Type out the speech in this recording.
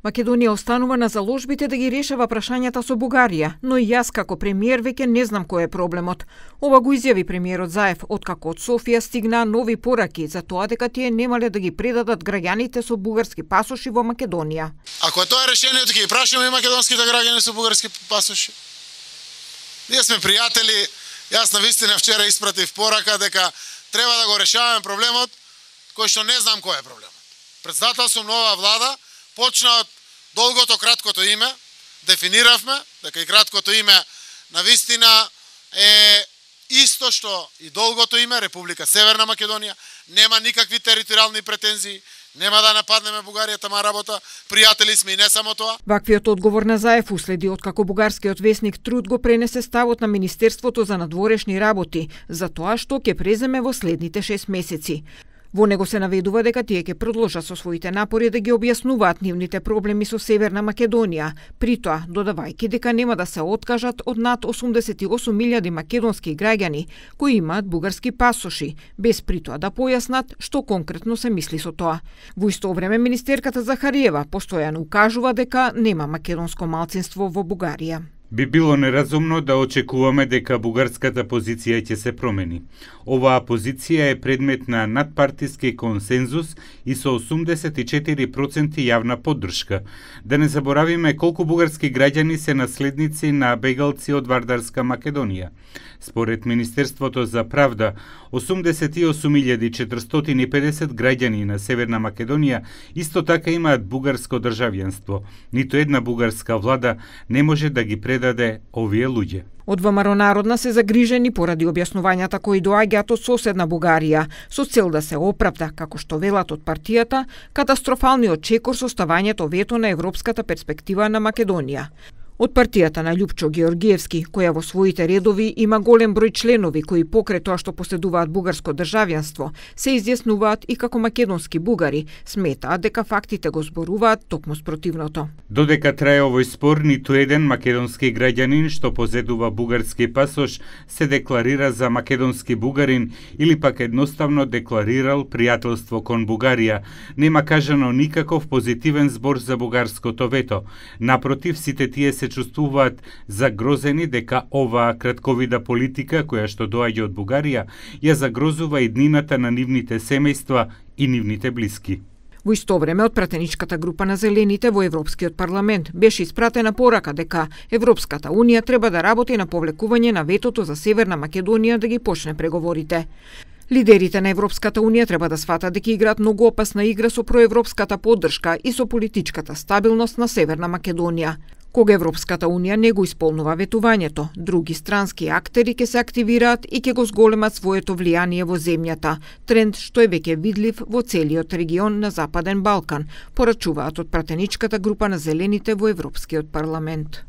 Македонија останува на заложбите да ги решава прашањата со Бугарија, но и јас како премиер веќе не знам кој е проблемот. Ова го изјави премиерот Заев откако од Софија стигнаа нови пораки за тоа дека тие немале да ги предадат граѓаните со бугарски пасоши во Македонија. Ако тоа е решението, ќе ги прашаме и македонските граѓани со бугарски пасоши. Ние сме пријатели, јас навистина вчера испратив порака дека треба да го решаваме проблемот кој што не знам кој е проблемот. Председател сум нова влада, почна од долгото краткото име, дефиниравме дека и краткото име навистина е исто што и долгото име, Република Северна Македонија, нема никакви територијални претензии, нема да нападнеме Бугарија, тама работа, пријатели сме и не само тоа. Ваквиот одговор на Заев уследи откако бугарскиот весник Труд го пренесе ставот на Министерството за надворешни работи за тоа што ќе преземе во следните 6 месеци. Во него се наведува дека тие ќе продолжат со своите напори да ги објаснуваат нивните проблеми со Северна Македонија, при тоа додавајќи дека нема да се откажат од над 88.000 македонски граѓани кои имаат бугарски пасоши, без при тоа да појаснат што конкретно се мисли со тоа. Во исто време министерката Захариева постојано укажува дека нема македонско малцинство во Бугарија. Би било неразумно да очекуваме дека бугарската позиција ќе се промени. Оваа позиција е предмет на надпартиски консензус и со 84% јавна поддршка. Да не заборавиме колку бугарски граѓани се наследници на бегалци од Вардарска Македонија. Според Министерството за правда, 88.450 граѓани на Северна Македонија исто така имаат бугарско државјанство. Ниту една бугарска влада не може да ги предаде овие луѓе. Од ВМРО Народна се загрижени поради објаснувањата кои доаѓаат од соседна Бугарија, со цел да се оправда, како што велат од партијата, катастрофалниот чекор со ставањето вето на европската перспектива на Македонија. Од партијата на Љупчо Георгиевски, која во своите редови има голем број членови кои покрај тоа што поседуваат бугарско државјанство, се изјаснуваат и како македонски бугари, сметаат дека фактите го зборуваат токму спротивното. Додека трае овој спор, ниту еден македонски граѓанин што позедува бугарски пасош се декларира за македонски бугарин или пак едноставно декларирал пријателство кон Бугарија. Нема кажано никаков позитивен збор за бугарското вето. Напротив, сите тие се чувствуваат загрозени дека оваа кратковида политика која што доаѓа од Бугарија ја загрозува иднината на нивните семејства и нивните блиски. Во исто време, од пратеничката група на Зелените во Европскиот парламент беше испратена порака дека Европската Унија треба да работи на повлекување на ветото за Северна Македонија да ги почне преговорите. Лидерите на Европската Унија треба да сватат дека играат многу опасна игра со проевропската поддршка и со политичката стабилност на Северна Македонија. Кога Европската Унија не го исполнува ветувањето, други странски актери ќе се активираат и ќе го зголемат своето влијание во земјата, тренд што е веќе видлив во целиот регион на Западен Балкан, порачуваат од пратеничката група на Зелените во Европскиот парламент.